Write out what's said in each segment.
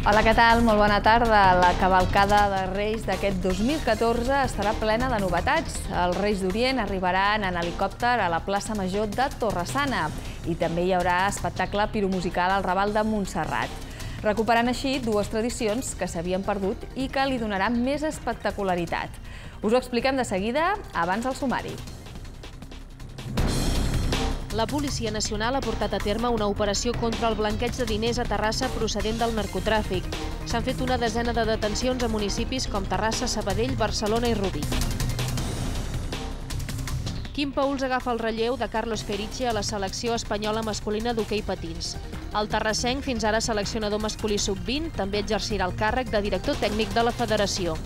Hola, què tal? Molt bona tarda. La cavalcada de Reis d'aquest 2014 estarà plena de novetats. Els Reis d'Orient arribaran en helicòpter a la plaça Major de Torre-sana i també hi haurà espectacle piromusical al Raval de Montserrat. Recuperant així dues tradicions que s'havien perdut i que li donaran més espectacularitat. Us ho expliquem de seguida, abans del sumari. La Policia Nacional ha portat a terme una operació contra el blanqueig de diners a Terrassa procedent del narcotràfic. S'han fet una desena de detencions a municipis com Terrassa, Sabadell, Barcelona i Rubí. Quim Pauls agafa el relleu de Carlos Feriche a la selecció espanyola masculina d'hoquei patins. El terrassenc, fins ara seleccionador masculí sub-20, també exercirà el càrrec de director tècnic de la federació.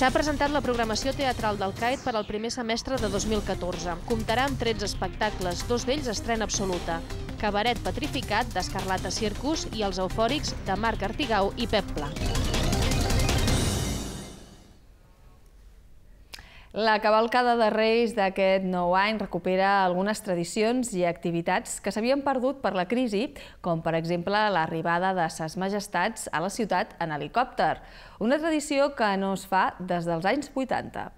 S'ha presentat la programació teatral del CAET per al primer semestre de 2014. Comptarà amb 13 espectacles, dos d'ells estrena absoluta. Cabaret Petrificat, d'Escarlata Circus, i Els eufòrics, de Marc Artigau i Pep Pla. La cavalcada de Reis d'aquest nou any recupera algunes tradicions i activitats que s'havien perdut per la crisi, com per exemple l'arribada de Ses Majestats a la ciutat en helicòpter, una tradició que no es fa des dels anys 80.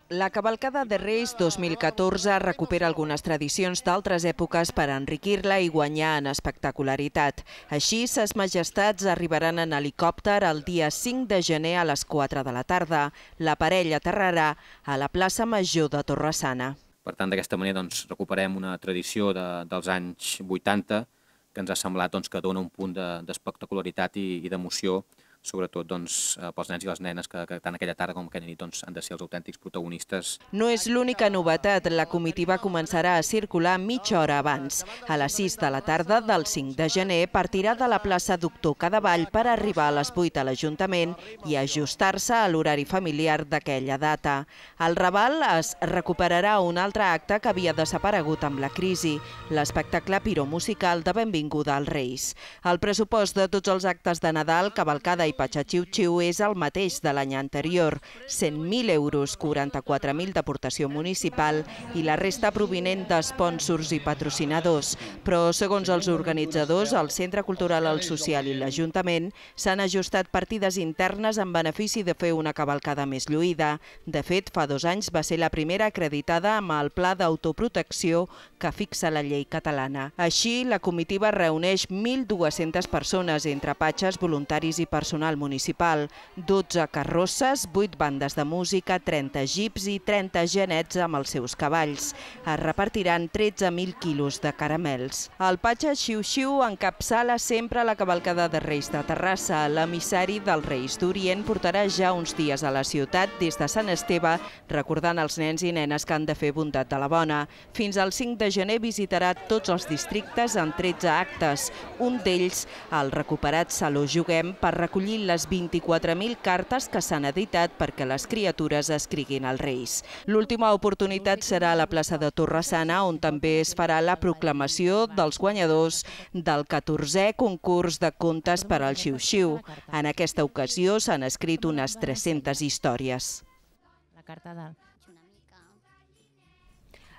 La cavalcada de Reis 2014 recupera algunes tradicions d'altres èpoques per enriquir-la i guanyar en espectacularitat. Així, Ses Majestats arribaran en helicòpter el dia 5 de gener a les 4 de la tarda. La parella aterrarà a la plaça Major de Torre-sana. Per tant, d'aquesta manera recuperem una tradició dels anys 80 que ens ha semblat que dona un punt d'espectacularitat i d'emoció, sobretot pels nens i les nenes que tant aquella tarda com aquella nit han de ser els autèntics protagonistes. No és l'única novetat. La comitiva començarà a circular mitja hora abans. A les 6 de la tarda del 5 de gener partirà de la plaça Doctor Cadevall per arribar a les 8 a l'Ajuntament i ajustar-se a l'horari familiar d'aquella data. Al Raval es recuperarà un altre acte que havia desaparegut amb la crisi, l'espectacle piromusical de benvinguda als Reis. El pressupost de tots els actes de Nadal, cavalcada i Patxa-Xiu-Xiu és el mateix de l'any anterior, 100.000 euros, 44.000 d'aportació municipal i la resta provinent d'espònsors i patrocinadors. Però, segons els organitzadors, el Centre Cultural El Social i l'Ajuntament s'han ajustat partides internes en benefici de fer una cavalcada més lluïda. De fet, fa 2 anys va ser la primera acreditada amb el pla d'autoprotecció que fixa la llei catalana. Així, la comitiva reuneix 1.200 persones, entre patxes, voluntaris i personal municipal, 12 carrosses, 8 bandes de música, 30 jeeps i 30 genets amb els seus cavalls. Es repartiran 13.000 quilos de caramels. El Patxa-Xiu-Xiu encapçala sempre la cavalcada de Reis de Terrassa. L'emissari dels Reis d'Orient portarà ja uns dies a la ciutat des de Sant Esteve, recordant als nens i nenes que han de fer bondat de la bona. Fins al 5 de gener visitarà tots els districtes en 13 actes. Un d'ells, el recuperat Saló Juguem, per recollir les 24.000 cartes que s'han editat perquè les criatures escriguin als Reis. L'última oportunitat serà a la plaça de Torre-sana, on també es farà la proclamació dels guanyadors del 14è concurs de contes per al Xiu-Xiu. En aquesta ocasió s'han escrit unes 300 històries.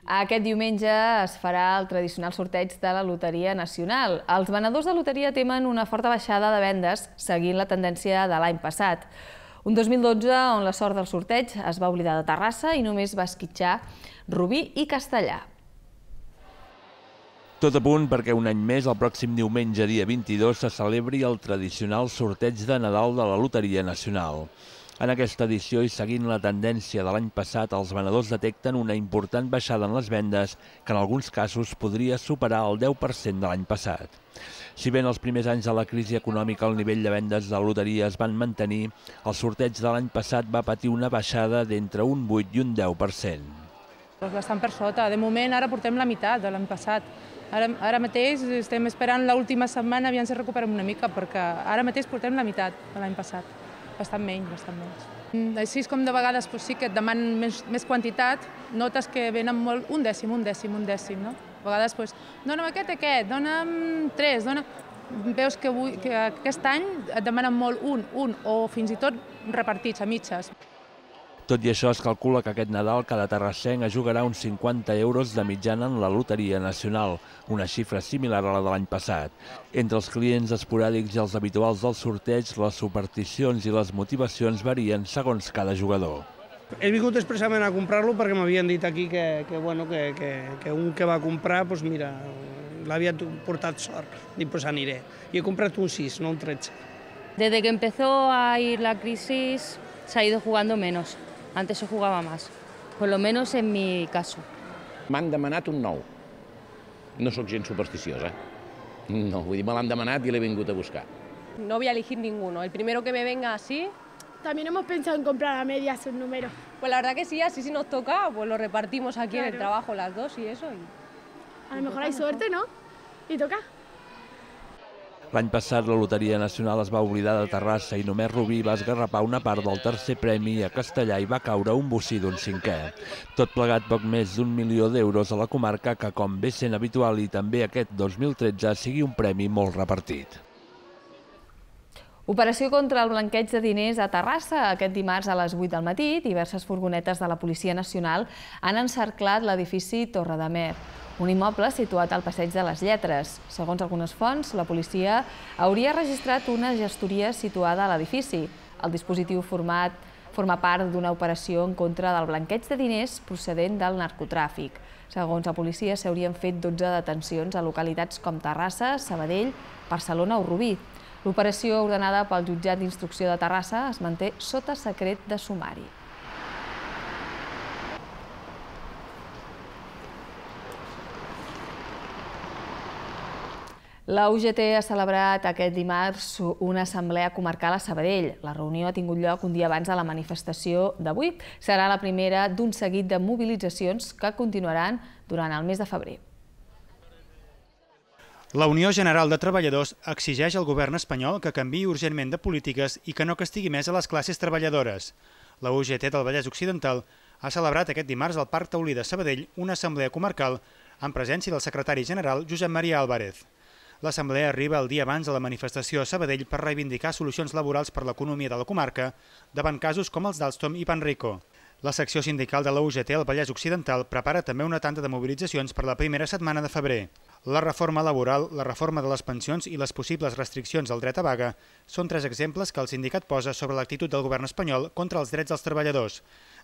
Aquest diumenge es farà el tradicional sorteig de la Loteria Nacional. Els venedors de loteria temen una forta baixada de vendes seguint la tendència de l'any passat. Un 2012 on la sort del sorteig es va oblidar de Terrassa i només va esquitxar Rubí i Castellà. Tot a punt perquè un any més, el pròxim diumenge, dia 22, se celebri el tradicional sorteig de Nadal de la Loteria Nacional. En aquesta edició, i seguint la tendència de l'any passat, els venedors detecten una important baixada en les vendes que en alguns casos podria superar el 10% de l'any passat. Si bé en els primers anys de la crisi econòmica el nivell de vendes de la loteria es van mantenir, el sorteig de l'any passat va patir una baixada d'entre un 8 i un 10%. Bastant per sota. De moment ara portem la meitat de l'any passat. Ara mateix estem esperant l'última setmana, aviam si recuperem una mica, perquè ara mateix portem la meitat de l'any passat. Bastant menys, bastant menys. Així com de vegades sí que et demanen més quantitat, notes que venen molt un dècim, no? A vegades, dona'm aquest, dona'm 3, veus que aquest any et demanen molt un, o fins i tot repartits a mitges. Tot i això, es calcula que aquest Nadal cada terrassenc es jugarà uns 50 euros de mitjana en la Loteria Nacional, una xifra similar a la de l'any passat. Entre els clients esporàdics i els habituals del sorteig, les supersticions i les motivacions varien segons cada jugador. He vingut expressament a comprar-lo perquè m'havien dit aquí que un que va comprar, doncs mira, l'havia portat sort. Dic, doncs aniré. I he comprat un 6, no un 13. Desde que empezó a ir la crisis se ha ido jugando menos. Antes se jugaba más, por lo menos en mi caso. M'han demanat un 9. No sóc gens supersticiosa. No, vull dir, me l'han demanat i l'he vingut a buscar. No voy a elegir ninguno. El primero que me venga así. También hemos pensado en comprar a medias un número. Pues la verdad que sí, así si nos toca, pues lo repartimos aquí en el trabajo las dos y eso. A lo mejor hay suerte, ¿no? Y toca. L'any passat la Loteria Nacional es va oblidar de Terrassa i només Rubí va esgarrapar una part del tercer premi a Castellà i va caure un bocí d'un 5è. Tot plegat poc més d'1 milió d'euros a la comarca que, com bé sent habitual i també aquest 2013, sigui un premi molt repartit. Operació contra el blanqueig de diners a Terrassa. Aquest dimarts a les 8 del matí, diverses furgonetes de la Policia Nacional han encerclat l'edifici Torredamer, un immoble situat al Passeig de les Lletres. Segons algunes fonts, la policia hauria registrat una gestoria situada a l'edifici. El dispositiu forma part d'una operació en contra del blanqueig de diners procedent del narcotràfic. Segons la policia, s'haurien fet 12 detencions a localitats com Terrassa, Sabadell, Barcelona o Rubí. L'operació ordenada pel jutjat d'instrucció de Terrassa es manté sota secret de sumari. La UGT ha celebrat aquest dimarts una assemblea comarcal a Sabadell. La reunió ha tingut lloc un dia abans de la manifestació d'avui. Serà la primera d'un seguit de mobilitzacions que continuaran durant el mes de febrer. La Unió General de Treballadors exigeix al govern espanyol que canviï urgentment de polítiques i que no castigui més a les classes treballadores. La UGT del Vallès Occidental ha celebrat aquest dimarts al Parc Taulí de Sabadell una assemblea comarcal en presència del secretari general Josep Maria Álvarez. L'assemblea arriba el dia abans de la manifestació a Sabadell per reivindicar solucions laborals per l'economia de la comarca davant casos com els d'Alstom i Panrico. La secció sindical de la UGT al Vallès Occidental prepara també una tanda de mobilitzacions per la primera setmana de febrer. La reforma laboral, la reforma de les pensions i les possibles restriccions al dret a vaga són tres exemples que el sindicat posa sobre l'actitud del govern espanyol contra els drets dels treballadors.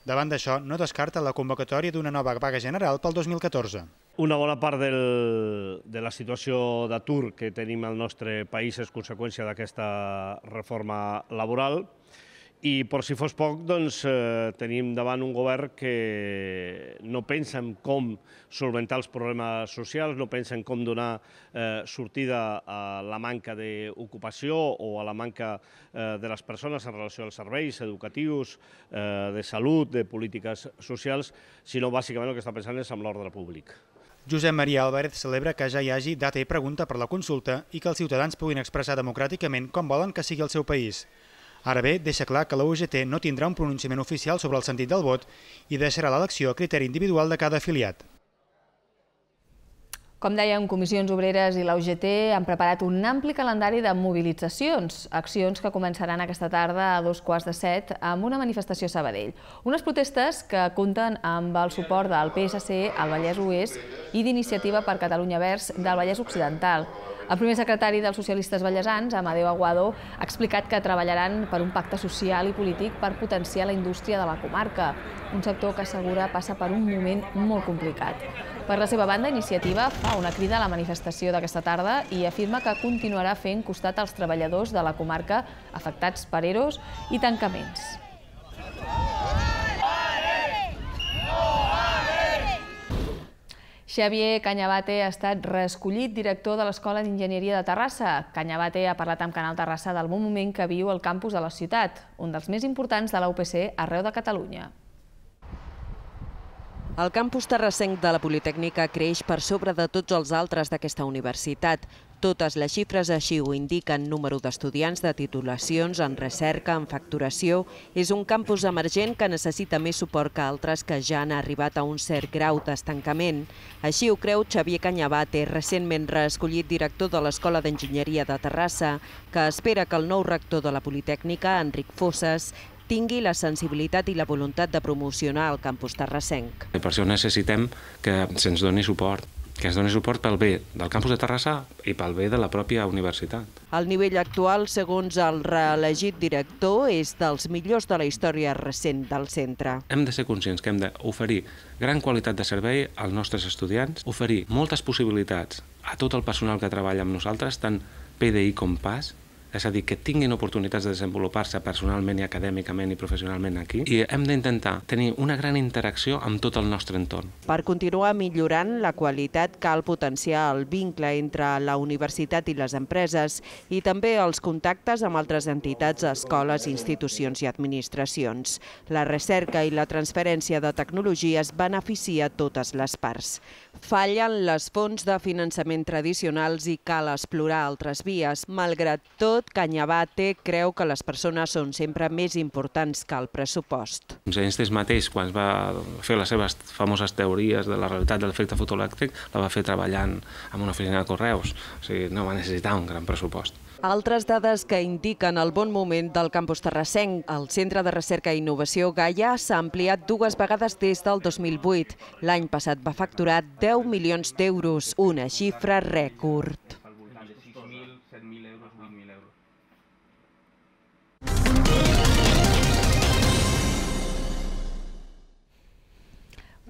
Davant d'això, no descarta la convocatòria d'una nova vaga general pel 2014. Una bona part de la situació d'atur que tenim al nostre país és conseqüència d'aquesta reforma laboral. I, per si fos poc, tenim davant un govern que no pensa en com solventar els problemes socials, no pensa en com donar sortida a la manca d'ocupació o a la manca de les persones en relació als serveis educatius, de salut, de polítiques socials, sinó bàsicament el que està pensant és en l'ordre públic. Josep Maria Álvarez celebra que ja hi hagi data i pregunta per la consulta i que els ciutadans puguin expressar democràticament com volen que sigui el seu país. Ara bé, deixa clar que la UGT no tindrà un pronunciament oficial sobre el sentit del vot i deixarà l'elecció a criteri individual de cada afiliat. Com dèiem, Comissions Obreres i la UGT han preparat un ampli calendari de mobilitzacions, accions que començaran aquesta tarda a 6:45 amb una manifestació a Sabadell. Unes protestes que compten amb el suport del PSC al Vallès Oest i d'Iniciativa per Catalunya Verds del Vallès Occidental. El primer secretari dels socialistes vallesans, Amadeu Aguado, ha explicat que treballaran per un pacte social i polític per potenciar la indústria de la comarca, un sector que assegura passa per un moment molt complicat. Per la seva banda, Iniciativa fa una crida a la manifestació d'aquesta tarda i afirma que continuarà fent costat als treballadors de la comarca afectats per EROs i tancaments. Xavier Cañabate ha estat reescollit director de l'Escola d'Enginyeria de Terrassa. Cañabate ha parlat amb Canal Terrassa del bon moment que viu el campus de la ciutat, un dels més importants de la UPC arreu de Catalunya. El campus terrassenc de la Politècnica creix per sobre de tots els altres d'aquesta universitat. Totes les xifres així ho indiquen: número d'estudiants, de titulacions, en recerca, en facturació. És un campus emergent que necessita més suport que altres que ja han arribat a un cert grau d'estancament. Així ho creu Xavier Cañabate, recentment reescollit director de l'Escola d'Enginyeria de Terrassa, que espera que el nou rector de la Politècnica, Enric Fosses, tingui la sensibilitat i la voluntat de promocionar el campus terrassenc. Per això necessitem que se'ns doni suport, que ens doni suport pel bé del campus de Terrassa i pel bé de la pròpia universitat. El nivell actual, segons el reelegit director, és dels millors de la història recent del centre. Hem de ser conscients que hem d'oferir gran qualitat de servei als nostres estudiants, oferir moltes possibilitats a tot el personal que treballa amb nosaltres, tant PDI com PAS, és a dir, que tinguin oportunitats de desenvolupar-se personalment i acadèmicament i professionalment aquí, i hem d'intentar tenir una gran interacció amb tot el nostre entorn. Per continuar millorant la qualitat cal potenciar el vincle entre la universitat i les empreses i també els contactes amb altres entitats, escoles, institucions i administracions. La recerca i la transferència de tecnologies beneficia totes les parts. Fallen les fonts de finançament tradicionals i cal explorar altres vies. Malgrat tot, Cañabate creu que les persones són sempre més importants que el pressupost. Einstein mateix, quan va fer les seves famoses teories de la realitat de l'efecte fotoelèctric, la va fer treballant en una oficina de correus. O sigui, no va necessitar un gran pressupost. Altres dades que indiquen el bon moment del campus terrassenc. El Centre de Recerca i Innovació Gaia s'ha ampliat 2 vegades des del 2008. L'any passat va facturar 10 milions d'euros, una xifra rècord.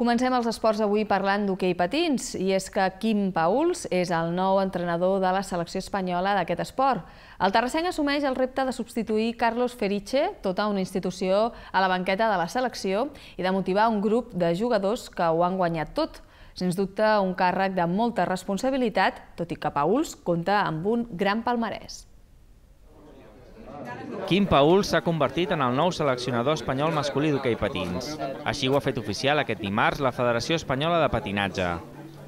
Comencem els esports avui parlant d'hoquei patins, i és que Quim Pauls és el nou entrenador de la selecció espanyola d'aquest esport. El terrassenc assumeix el repte de substituir Carlos Feriche, tota una institució a la banqueta de la selecció, i de motivar un grup de jugadors que ho han guanyat tot. Sens dubte, un càrrec de molta responsabilitat, tot i que Pauls compta amb un gran palmarès. Quim Pauls s'ha convertit en el nou seleccionador espanyol masculí d'hoquei patins. Així ho ha fet oficial aquest dimarts la Federació Espanyola de Patinatge.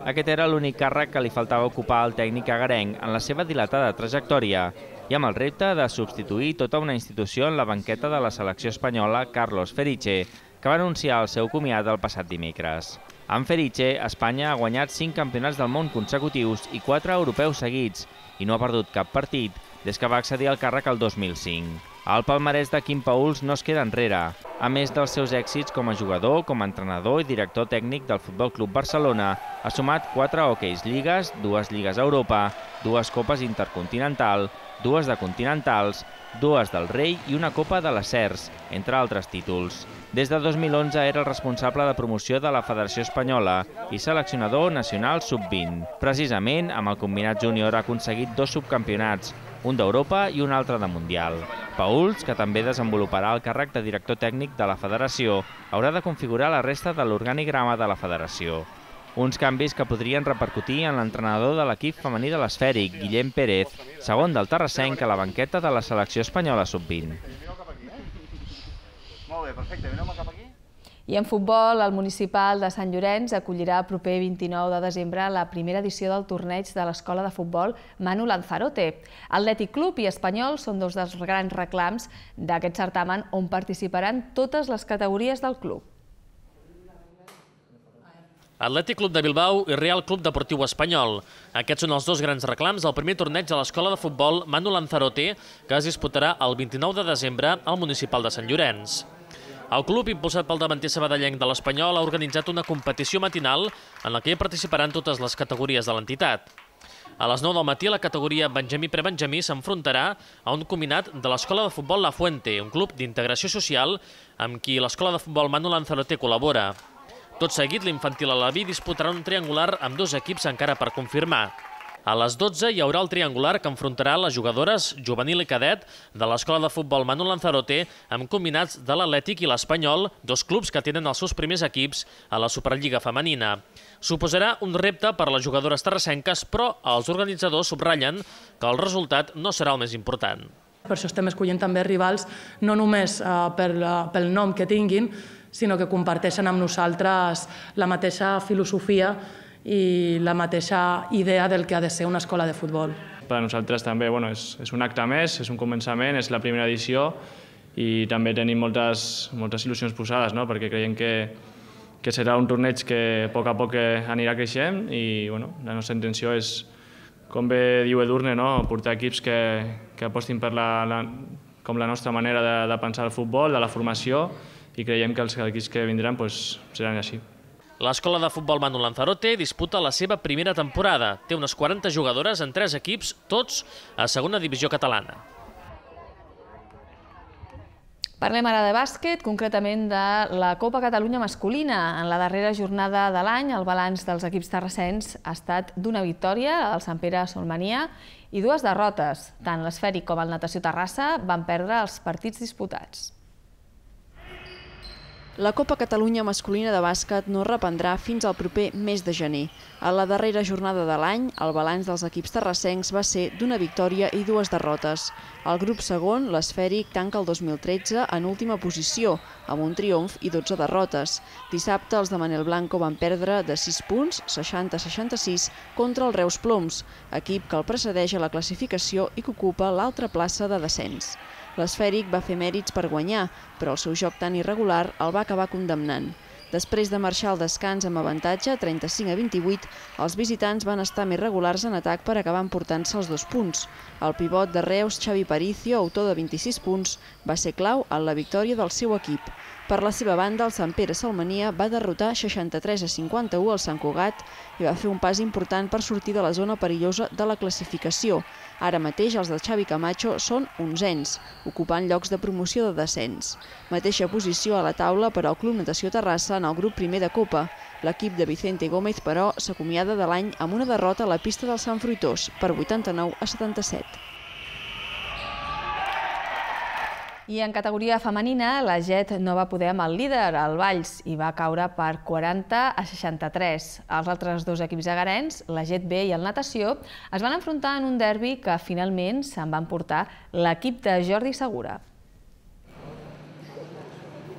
Aquest era l'únic càrrec que li faltava ocupar al tècnic agarenc en la seva dilatada trajectòria i amb el repte de substituir tota una institució en la banqueta de la selecció espanyola, Carlos Feriche, que va anunciar el seu comiat el passat dimecres. Amb Feriche, Espanya ha guanyat 5 campionats del món consecutius i 4 europeus seguits i no ha perdut cap partit des que va accedir al càrrec el 2005. El palmarès de Quim Pauls no es queda enrere. A més dels seus èxits com a jugador, com a entrenador i director tècnic del Futbol Club Barcelona, ha sumat 4 hoqueis lligues, 2 lligues a Europa, 2 copes intercontinental, 2 de continentals, 2 del Rei i una copa de les Cers, entre altres títols. Des de 2011 era el responsable de promoció de la Federació Espanyola i seleccionador nacional sub-20. Precisament, amb el combinat júnior ha aconseguit 2 subcampionats, un d'Europa i un altre de Mundial. Pauls, que també desenvoluparà el càrrec de director tècnic de la Federació, haurà de configurar la resta de l'organigrama de la Federació. Uns canvis que podrien repercutir en l'entrenador de l'equip femení de l'Esfèric, Guillem Pérez, segon del terrassenc a la banqueta de la selecció espanyola sub-20. Molt bé, perfecte, vineu cap aquí. I en futbol, el municipal de Sant Llorenç acollirà el proper 29 de desembre la primera edició del torneig de l'escola de futbol Manu Lanzarote. Atlètic Club i Espanyol són 2 dels grans reclams d'aquest certamen on participaran totes les categories del club. Atlètic Club de Bilbao i Real Club Deportiu Espanyol. Aquests són els 2 grans reclams del primer torneig de l'escola de futbol Manu Lanzarote, que es disputarà el 29 de desembre al municipal de Sant Llorenç. El club, impulsat pel davanter sabadellenc de l'Espanyol, ha organitzat una competició matinal en la que hi participaran totes les categories de l'entitat. A les 9 del matí, la categoria Benjamí-Prebenjamí s'enfrontarà a un combinat de l'escola de futbol La Fuente, un club d'integració social amb qui l'escola de futbol Manu Lanzarote col·labora. Tot seguit, l'infantil Alaví disputarà un triangular amb 2 equips encara per confirmar. A les 12 hi haurà el triangular que enfrontarà les jugadores juvenil i cadet de l'escola de futbol Manu Lanzarote amb combinats de l'Atlètic i l'Espanyol, 2 clubs que tenen els seus primers equips a la Superliga femenina. Suposarà un repte per a les jugadores terrassenques, però els organitzadors subratllen que el resultat no serà el més important. Per això estem escollint també rivals no només pel nom que tinguin, sinó que comparteixen amb nosaltres la mateixa filosofia i la mateixa idea del que ha de ser una escola de futbol. Per a nosaltres també és un acte més, és un començament, és la primera edició i també tenim moltes il·lusions posades, perquè creiem que serà un torneig que a poc anirà creixent i la nostra intenció és, com bé diu Edurne, portar equips que apostin per com la nostra manera de pensar el futbol, de la formació, i creiem que els equips que vindran seran així. L'escola de futbol Manu Lanzarote disputa la seva primera temporada. Té unes 40 jugadores en 3 equips, tots a segona divisió catalana. Parlem ara de bàsquet, concretament de la Copa Catalunya masculina. En la darrera jornada de l'any, el balanç dels equips terrassens ha estat d'una victòria, el Sant Pere Solmania, i 2 derrotes. Tant l'Esfèric com el Natació Terrassa van perdre els partits disputats. La Copa Catalunya masculina de bàsquet no reprendrà fins al proper mes de gener. A la darrera jornada de l'any, el balanç dels equips terrassencs va ser d'una victòria i 2 derrotes. El grup segon, l'Esfèric, tanca el 2013 en última posició, amb un triomf i 12 derrotes. Dissabte, els de Manel Blanco van perdre de 6 punts, 60-66, contra el Reus Ploms, equip que el precedeix a la classificació i que ocupa l'altra plaça de descens. L'Esfèric va fer mèrits per guanyar, però el seu joc tan irregular el va acabar condemnant. Després de marxar al descans amb avantatge, 35-28, els visitants van estar més regulars en atac per acabar emportant-se els 2 punts. El pivot de Reus, Xavi Paricio, autor de 26 punts, va ser clau en la victòria del seu equip. Per la seva banda, el Sant Pere Solmania va derrotar 63-51 al Sant Cugat i va fer un pas important per sortir de la zona perillosa de la classificació. Ara mateix els de Xavi Camacho són 11ens, ocupant llocs de promoció de descens. Mateixa posició a la taula per al Club Natació Terrassa en el grup primer de Copa. L'equip de Vicente Gómez, però, s'acomiada de l'any amb una derrota a la pista del Sant Fruitós per 89-77. I en categoria femenina, la Jet no va poder amb el líder, el Valls, i va caure per 40-63. Els altres 2 equips agarens, la Jet B i el Natació, es van enfrontar en un derbi que finalment se'n va emportar l'equip de Jordi Segura.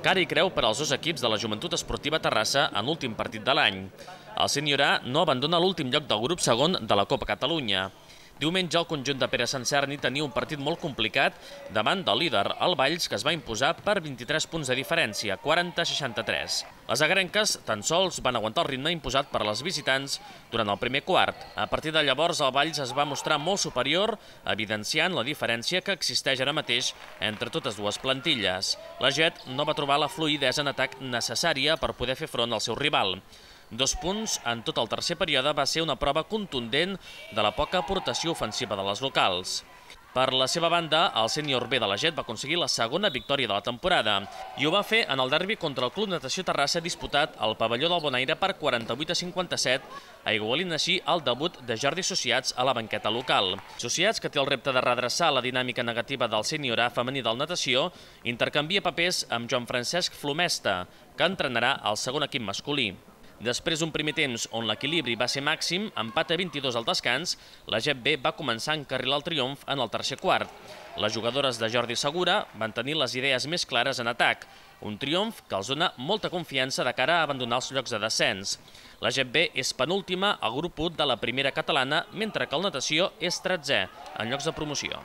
Cara i creu per als 2 equips de la Joventut Esportiva Terrassa en l'últim partit de l'any. El Sènior A no abandona l'últim lloc del grup segon de la Copa Catalunya. Diumenge el conjunt de Pere Sancerni tenia un partit molt complicat davant del líder, el Valls, que es va imposar per 23 punts de diferència, 40-63. Les agarenques tan sols van aguantar el ritme imposat per les visitants durant el primer quart. A partir de llavors el Valls es va mostrar molt superior, evidenciant la diferència que existeix ara mateix entre totes 2 plantilles. La Jet no va trobar la fluïdesa en atac necessària per poder fer front al seu rival. 2 punts en tot el tercer període va ser una prova contundent de la poca aportació ofensiva de les locals. Per la seva banda, el Sènior B de la Jet va aconseguir la segona victòria de la temporada i ho va fer en el derbi contra el Club Natació Terrassa disputat al pavelló del Bonaire per 48-57, aigualint així el debut de Jordi Sociats a la banqueta local. Sociats, que té el repte de redreçar la dinàmica negativa del Sènior A femení del Natació, intercanvia papers amb Joan Francesc Flomesta, que entrenarà el segon equip masculí. Després d'un primer temps on l'equilibri va ser màxim, empat a 22 al descans, la Jet B va començar a encarrilar el triomf en el tercer quart. Les jugadores de Jordi Segura van tenir les idees més clares en atac, un triomf que els dona molta confiança de cara a abandonar els llocs de descens. La Jet B és penúltima al grup 1 de la primera catalana, mentre que el Natació és 13è en llocs de promoció.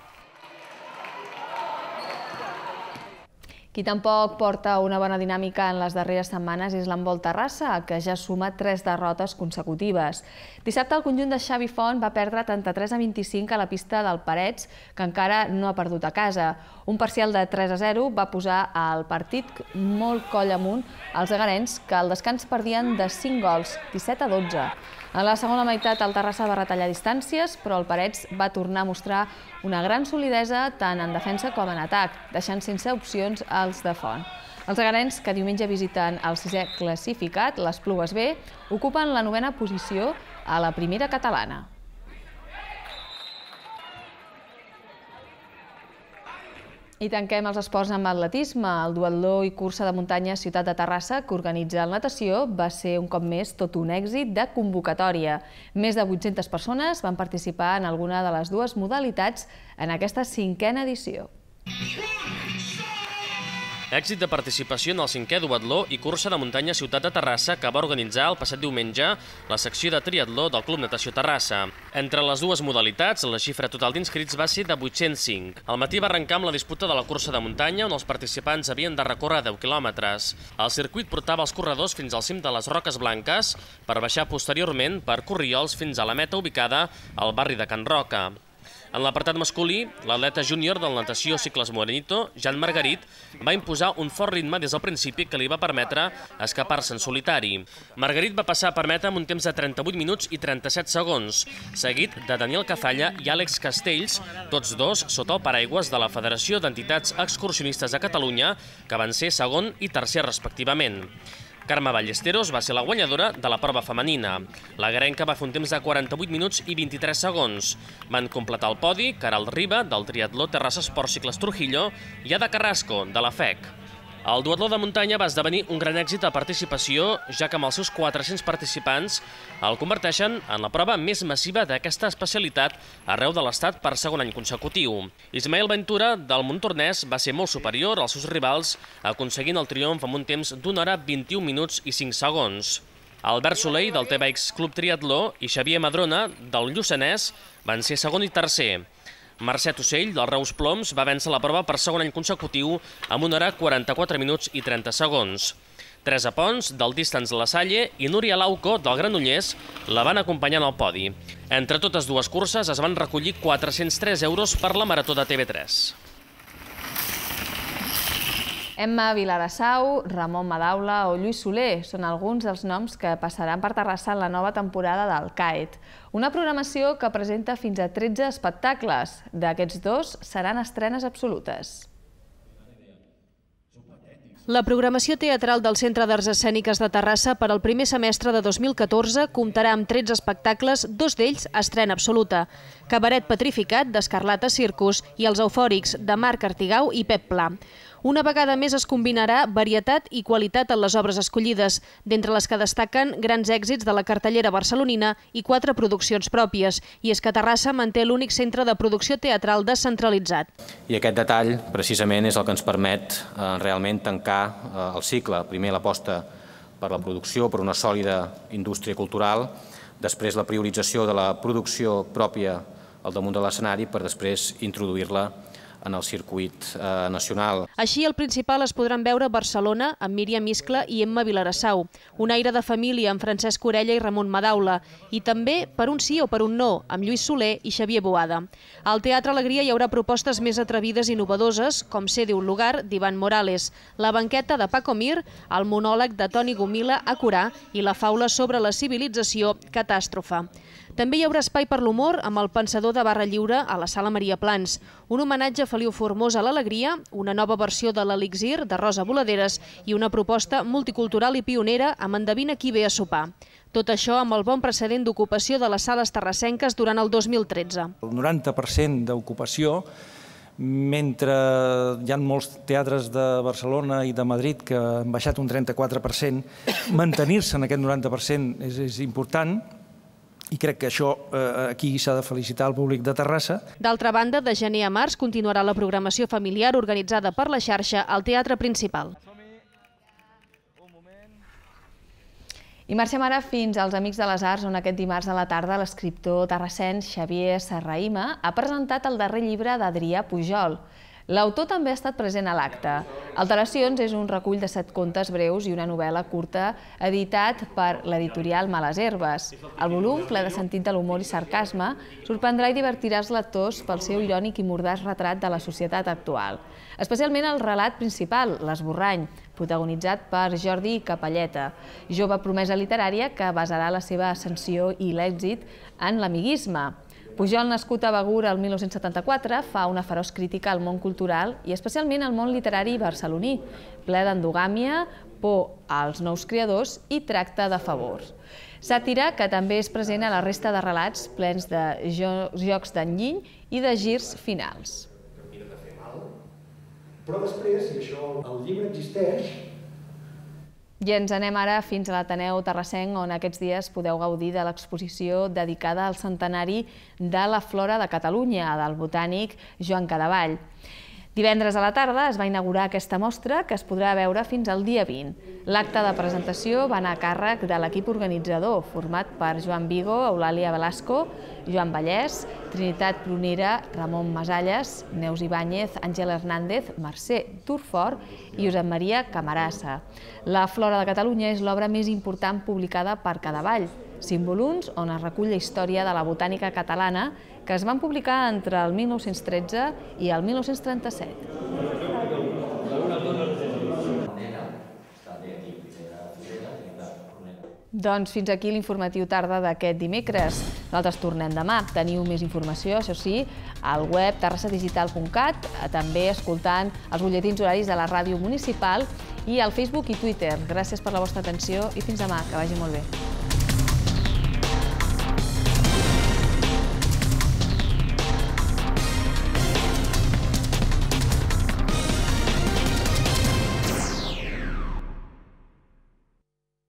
Qui tampoc porta una bona dinàmica en les darreres setmanes és l'handbol Terrassa, que ja suma 3 derrotes consecutives. Dissabte el conjunt de Xavi Font va perdre 33-25 a la pista del Parets, que encara no ha perdut a casa. Un parcial de 3-0 va posar el partit molt coll amunt als agarens, que al descans perdien de 5 gols, 17-12. En la segona meitat el Terrassa va retallar distàncies, però el Parets va tornar a mostrar una gran solidesa tant en defensa com en atac, deixant sense opcions als de Font. Els agarens, que diumenge visiten el 6è classificat, les Plugues B, ocupen la 9a posició a la primera catalana. I tanquem els esports amb atletisme. El duatló i cursa de muntanya Ciutat de Terrassa, que organitza el Natació, va ser un cop més tot un èxit de convocatòria. Més de 800 persones van participar en alguna de les 2 modalitats en aquesta 5a edició. Èxit de participació en el 5è duatló i cursa de muntanya Ciutat de Terrassa, que va organitzar el passat diumenge la secció de triatló del Club Natació Terrassa. Entre les 2 modalitats, la xifra total d'inscrits va ser de 805. Al matí va arrencar amb la disputa de la cursa de muntanya, on els participants havien de recórrer 10 quilòmetres. El circuit portava els corredors fins al cim de les Roques Blanques per baixar posteriorment per Corriols fins a la meta ubicada al barri de Can Roca. En l'apartat masculí, l'atleta júnior del natació cicles Morenito, Jan Margarit, va imposar un fort ritme des del principi que li va permetre escapar-se en solitari. Margarit va passar per meta amb un temps de 38 minuts i 37 segons, seguit de Daniel Cazalla i Àlex Castells, tots dos sota el paraigües de la Federació d'Entitats Excursionistes de Catalunya, que van ser segon i tercer respectivament. Carme Ballesteros va ser la guanyadora de la prova femenina. La garenca va fer un temps de 48 minuts i 23 segons. Van completar el podi Caral Riba, del triatló Terrassa Esports Cicles Trujillo, i Ada Carrasco, de la FEC. El duatló de muntanya va esdevenir un gran èxit de participació, ja que amb els seus 400 participants el converteixen en la prova més massiva d'aquesta especialitat arreu de l'Estat per segon any consecutiu. Ismael Ventura, del Montornès, va ser molt superior als seus rivals, aconseguint el triomf amb un temps d'1 hora 21 minuts i 5 segons. Albert Soleil, del TBX Club Triatló, i Xavier Madrona, del Lluçanès, van ser segon i tercer. Mercè Ocell, del Reus Ploms, va vèncer la prova per segon any consecutiu amb 1 hora 44 minuts i 30 segons. Teresa Pons, del Distance La Salle, i Núria Lauco, del Granollers, la van acompanyar en el podi. Entre totes dues curses es van recollir 403 euros per la Marató de TV3. Emma Vilarassau, Ramon Madaula o Lluís Soler són alguns dels noms que passaran per Terrassa en la nova temporada del CAET. Una programació que presenta fins a 13 espectacles. D'aquests 2 seran estrenes absolutes. La programació teatral del Centre d'Arts Escèniques de Terrassa per al primer semestre de 2014 comptarà amb 13 espectacles, 2 d'ells estrena absoluta. Cabaret Petrificat, d'Escarlata Circus, i Els Eufòrics, de Marc Artigau i Pep Pla. Una vegada més es combinarà varietat i qualitat en les obres escollides, d'entre les que destaquen grans èxits de la cartellera barcelonina i 4 produccions pròpies, i és que Terrassa manté l'únic centre de producció teatral descentralitzat. I aquest detall, precisament, és el que ens permet realment tancar el cicle. Primer l'aposta per la producció, per una sòlida indústria cultural, després la priorització de la producció pròpia al damunt de l'escenari per després introduir-la en el circuit nacional. Així, el principal es podran veure a Barcelona amb Míriam Iscla i Emma Vilarassau, Un aire de família amb Francesc Orella i Ramon Madaula, i també Per un sí o per un no, amb Lluís Soler i Xavier Boada. Al Teatre Alegria hi haurà propostes més atrevides i innovadores, com Ser un lugar, d'Ivan Morales, La banqueta de Paco Mir, el monòleg de Toni Gomila a Corà i la faula sobre la civilització Catàstrofe. També hi haurà espai per l'humor amb El pensador de Barra Lliure a la Sala Maria Plans, un homenatge a Feliu Formós a l'Alegria, una nova versió de l'Elixir de Rosa Voladeres i una proposta multicultural i pionera amb Endevina qui ve a sopar. Tot això amb el bon precedent d'ocupació de les sales terrassenques durant el 2013. El 90% d'ocupació, mentre hi ha molts teatres de Barcelona i de Madrid que han baixat un 34%, mantenir-se en aquest 90% és important. I crec que això aquí s'ha de felicitar el públic de Terrassa. D'altra banda, de gener a març continuarà la programació familiar organitzada per la xarxa al Teatre Principal. I marxem ara fins als Amics de les Arts, on aquest dimarts a la tarda l'escriptor terrassenc Xavier Serrahima ha presentat el darrer llibre d'Adrià Pujol. L'autor també ha estat present a l'acte. Alteracions és un recull de 7 contes breus i una novel·la curta editat per l'editorial Males Herbes. El volum, ple de sentit de l'humor i sarcasme, sorprendrà i divertirà els lectors pel seu irònic i mordaç retrat de la societat actual. Especialment el relat principal, L'Esborrany, protagonitzat per Jordi Capalleta, jove promesa literària que basarà la seva ascensió i l'èxit en l'amiguisme. Pujol, nascut a Begur el 1974, fa una feroç crítica al món cultural i especialment al món literari barceloní, ple d'endogàmia, por als nous creadors i tracte de favors. Sàtira que també és present a la resta de relats plens de jocs d'enginy i de girs finals. Però després, i això el llibre existeix, i ens anem ara fins a l'Ateneu Terrassenc, on aquests dies podeu gaudir de l'exposició dedicada al centenari de la Flora de Catalunya, del botànic Joan Cadevall. Divendres a la tarda es va inaugurar aquesta mostra, que es podrà veure fins al dia 20. L'acte de presentació va anar a càrrec de l'equip organitzador, format per Joan Vigo, Eulàlia Velasco, Joan Vallès, Trinitat Prunera, Ramon Masalles, Neus Ibáñez, Àngel Hernández, Mercè Durfort i Josep Maria Camarasa. La Flora de Catalunya és l'obra més important publicada per Cadevall. Símboluns, on es recull la història de la botànica catalana, que es van publicar entre el 1913 i el 1937. Doncs fins aquí l'informatiu tarda d'aquest dimecres. Nosaltres tornem demà. Teniu més informació, això sí, al web terrassadigital.cat, també escoltant els butlletins horaris de la ràdio municipal i al Facebook i Twitter. Gràcies per la vostra atenció i fins demà, que vagi molt bé.